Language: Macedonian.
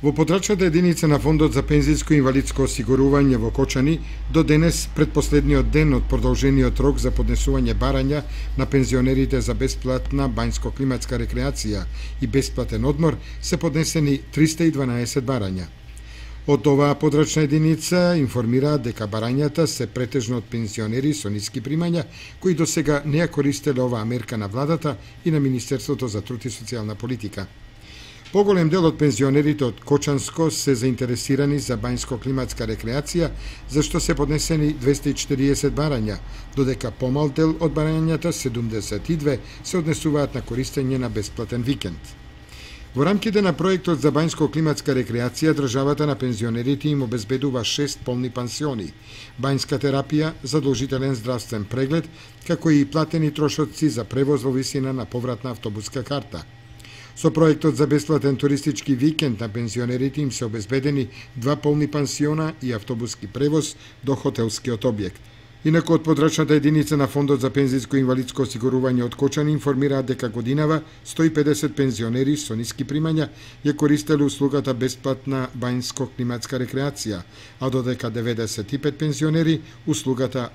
Во потрачната единица на Фондот за пензијско и инвалидско осигурување во Кочани, до денес, предпоследниот ден од продолжениот рок за поднесување барања на пензионерите за бесплатна бањско-климатска рекреација и бесплатен одмор, се поднесени 312 барања. Од оваа подрачна единица информираат дека барањата се претежно од пензионери со ниски примања, кои досега не ја користеле оваа мерка на владата и на Министерството за труд и социјална политика. Поголем дел од пензионерите од Кочанско се заинтересирани за бањско-климатска рекреација, зашто се поднесени 240 барања, додека помал дел од барањата, 72, се однесуваат на користење на бесплатен викенд. Во рамките на проектот за бањско-климатска рекреација, државата на пензионерите им обезбедува 6 полни пансиони, бањска терапија, задолжителен здравствен преглед, како и платени трошоци за превоз во висина на повратна автобуска карта. Со проектот за бесплатен туристички викенд на пензионерите им се обезбедени 2 полни пансиона и автобуски превоз до хотелскиот објект. Инаку од подрачната единица на Фондот за пензијско и инвалидско осигурување од Кочани информираат дека годинава 150 пензионери со ниски примања ја користеле услугата бесплатна бањско-климатска рекреација, а додека 95 пензионери услугата